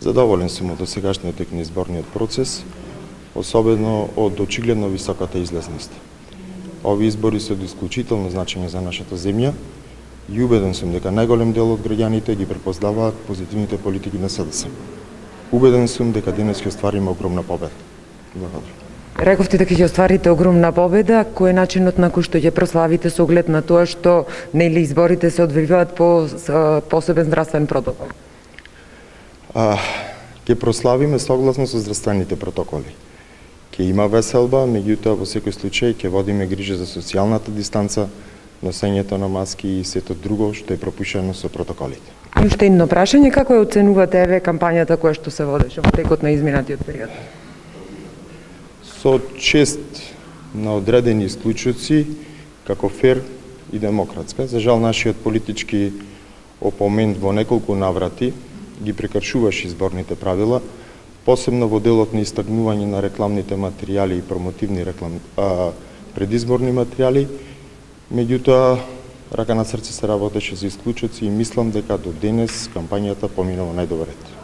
Задоволен сум од досегашниот тек на изборниот процес, особено од очигледно високата излезност. Овие избори се од исклучително значење за нашата земја и убеден сум дека најголем дел од граѓаните ги препознаваат позитивните политики на СДС. Убеден сум дека денес ќе оствариме огромна победа. Благодарам. Рековте дека ќе остварите огромна победа. Кој е начинот на кој што ќе прославите со оглед на тоа што нели изборите се одвиваат по посебен здравствен протокол? Ќе прославиме согласно со здравствените протоколи. Ќе има веселба, меѓутоа во секој случај ќе водиме грижа за социјалната дистанца, носењето на маски и сето друго што е пропишано со протоколите. И уште едно прашање, како ја оценувате еве кампањата која што се водеше во текот на изминатиот период? Со чест на одредени случаи како фер и демократска. За жал нашиот политички опонент во неколку наврати ги прекршуваше изборните правила, посебно во делот на истакнување на рекламните материјали и промотивни предизборни материјали. Меѓутоа, рака на срце се работеше за исклучоци и мислам дека до денес кампањата поминува најдобар ред.